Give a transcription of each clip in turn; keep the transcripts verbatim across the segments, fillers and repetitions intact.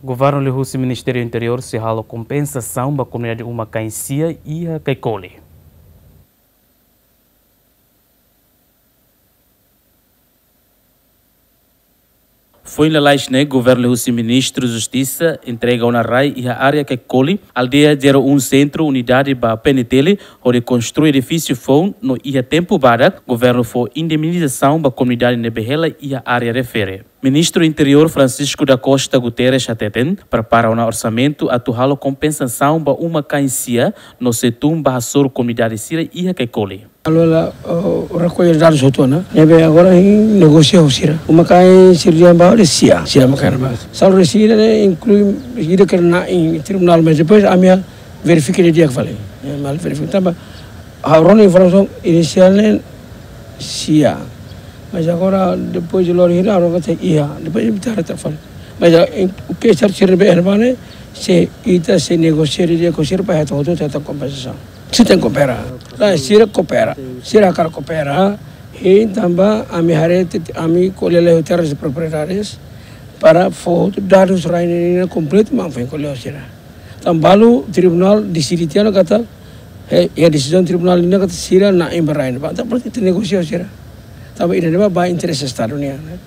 Governu liuhusi Ministériu Interiór sei halo kompensasaun ba komunidade uma-kain sia iha Caicoli. Foin lalais ne'e, governu liuhusi Ministru Justisa entrega ona rai iha área Caicoli, aldeia zero um Centro, unidade ba P N T L, hodi konstrui edifísiu foun no iha tempu badak, governu fó indemnizasaun ba komunidade ne'ebé hela iha área refere. Ministru Interiór Francisco da Costa Guterres hateten, prepara ona orsamentu atu halo kompensasaun ba uma-kain sia no sei tun ba hasoru komunidade sira iha Caicoli. Alola, oh, rekolla dadus hotu ona. Ne'ebé agora hein negosia ho sira. Uma-kain sira dehan ba de sia, sia uma-kain ba. Salu sira ne'e inklui ida ke na'in tribunál, mas depois ami verifika didi'ak fali. Eh, mal verifika tanba ha'u rona informasaun inisiál ne'e sia. Mas agora depois de lori hira, agora katak iha. Depois de bitar tak fali. Mas ah, em, o que está sendo bem, hermano, se ita sei negosia didi'ak ho sira para hetan hotu, hetan kompensasaun. Sira tenke koopera. Nah, sira koopera. Sira hakarak koopera. Hein tanba ami haree, ami ko'alia ho terras de propriedades para fó dadus rai ne'e kompletu, mak foin ko'alia ho sira. Tanba balu tribunál deside tiha ona katak, eh, iha desizaun tribunál ne'e katak sira na'in ba rai ne'ebá. Entaun berarti ita negosia ho sira. Tanba ida-ne'e ba interese Estadu nian, ne'e.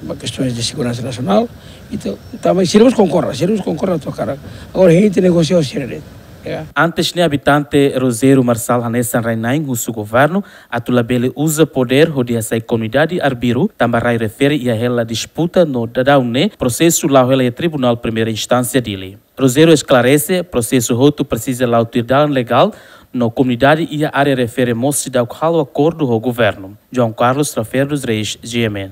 Ba kestaun de seguransa nasionál, ita, tanba sira mós konkorda, sira mós konkorda atu hakarak. Agora hein ita negosia ho sira de'it. Ya. Antes ne'e, abitante Rogério Marçal hanesan rai-na'in husu governu atu labele uza podér hodi hasai komunidade arbiru, tanba rai refere iha hela disputa no daudaun ne'e prosesu la'o hela iha Tribunál Primeira Instánsia Dili. Rogério esklarese, prosesu hotu presiza la'o tuir dalan legál, no komunidade iha área refere mós seidauk halo akordu ho governu. João Carlos Trafeiros Reis, G M N.